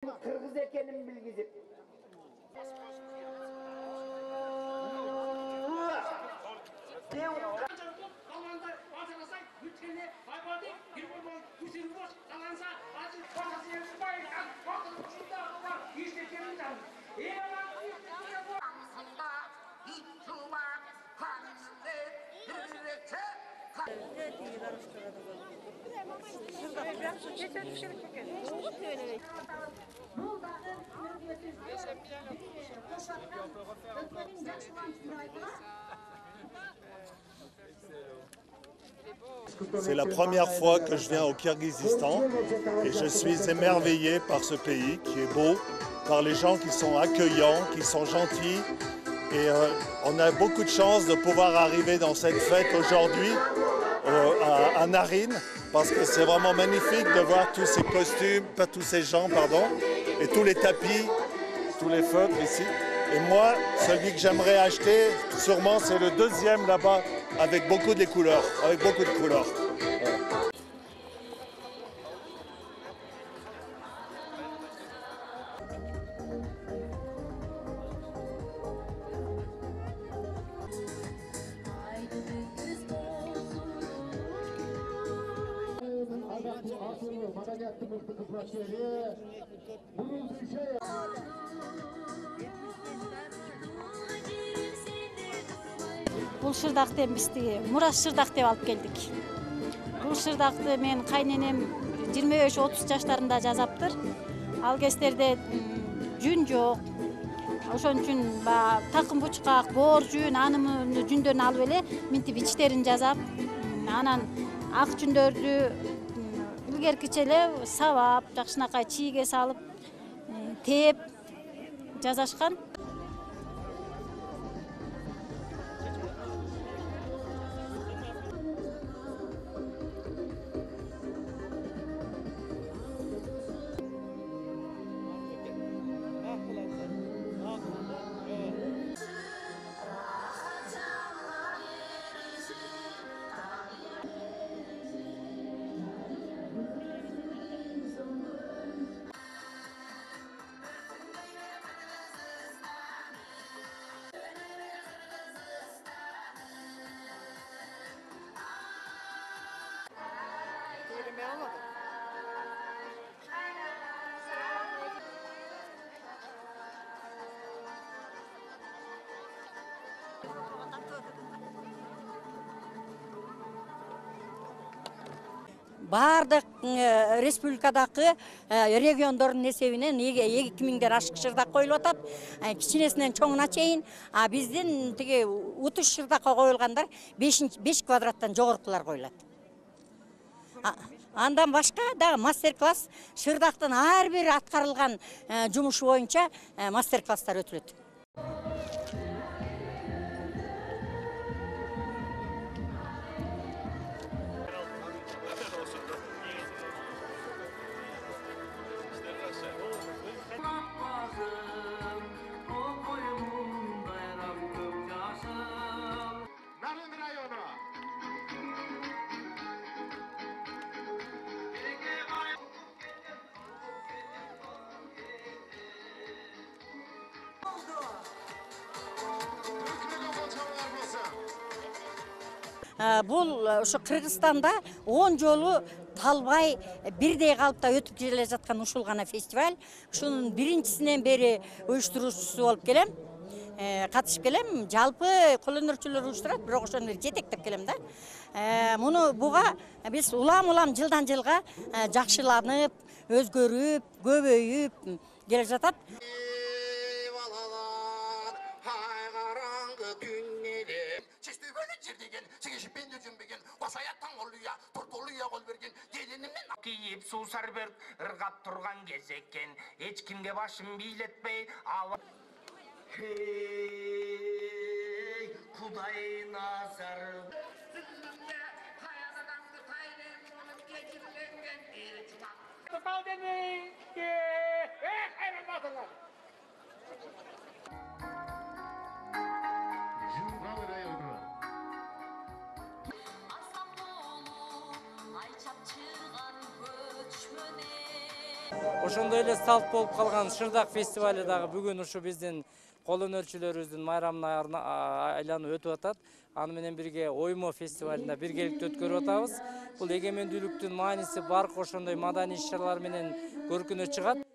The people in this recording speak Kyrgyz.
Kırgız ekenim bilgizip. C'est la première fois que je viens au Kirghizistan et je suis émerveillé par ce pays qui est beau, par les gens qui sont accueillants, qui sont gentils. Et on a beaucoup de chance de pouvoir arriver dans cette fête aujourd'hui à Naryn, parce que c'est vraiment magnifique de voir tous ces costumes, pas tous ces gens, pardon, et tous les tapis, tous les feutres ici. Et moi, celui que j'aimerais acheter, sûrement, c'est le deuxième là-bas, avec beaucoup de couleurs, Бул шырдакты бизди Мурас шырдак деп алып келдик. Бул шырдакты мен кайненем 25-30 жаштарында жасаптыр. Ал кездерде жүн жок. Ошон үчүн такым бучкак, боор жүн, анын жүндөрүн алып эле минтип ичтерин жасап, анан ак жүндөрдү илгеркиче эле сабап, жакшынакай чийге салып, тээп жасашкан. Бардык республикадагы региондордун эсебинен 2000ден ашык шырдак коюлуп атат. Кичинесинен чоңуна чейин, а биздин тиги утуш шырдакка коюлгандар 5 квадраттан жогоркулар коюлат. Андан башка дагы мастер-класс шырдактын ар бир аткарылган жумушу боюнча мастер-класстар өтүлөт. Бул ошо Кыргызстанда 10 жолу талбай бирдей калыпта өтүп келе жаткан ушул гана фестиваль. Ушунун биринчисинен бери уюштуруучусу болуп келем. Катышып келем. Жалпы кол өнөрчүлөр уюштурат, бирок ошону жетектеп келем да. Буга биз улам жылдан жылга жакшыланып, өзгөрүп, көбөйүп келе жатат. Кийип суусар бөрк ыргап турган кез экен, эч кимге башым бийлетпей Hey, Kuday nazar. Ошондой эле салт болуп калган Шырдак фестивали дагы бүгүн ушу биздин кол өнөрчүлөрүбүздүн майрамына айланып өтүп атат. Аны менен бирге оймо фестивалында биргеликте өткөрүп атабыз. Бул эгемендүүлүктүн мааниси баркы ошондой маданий иш-чаралар менен көркүнө чыгат.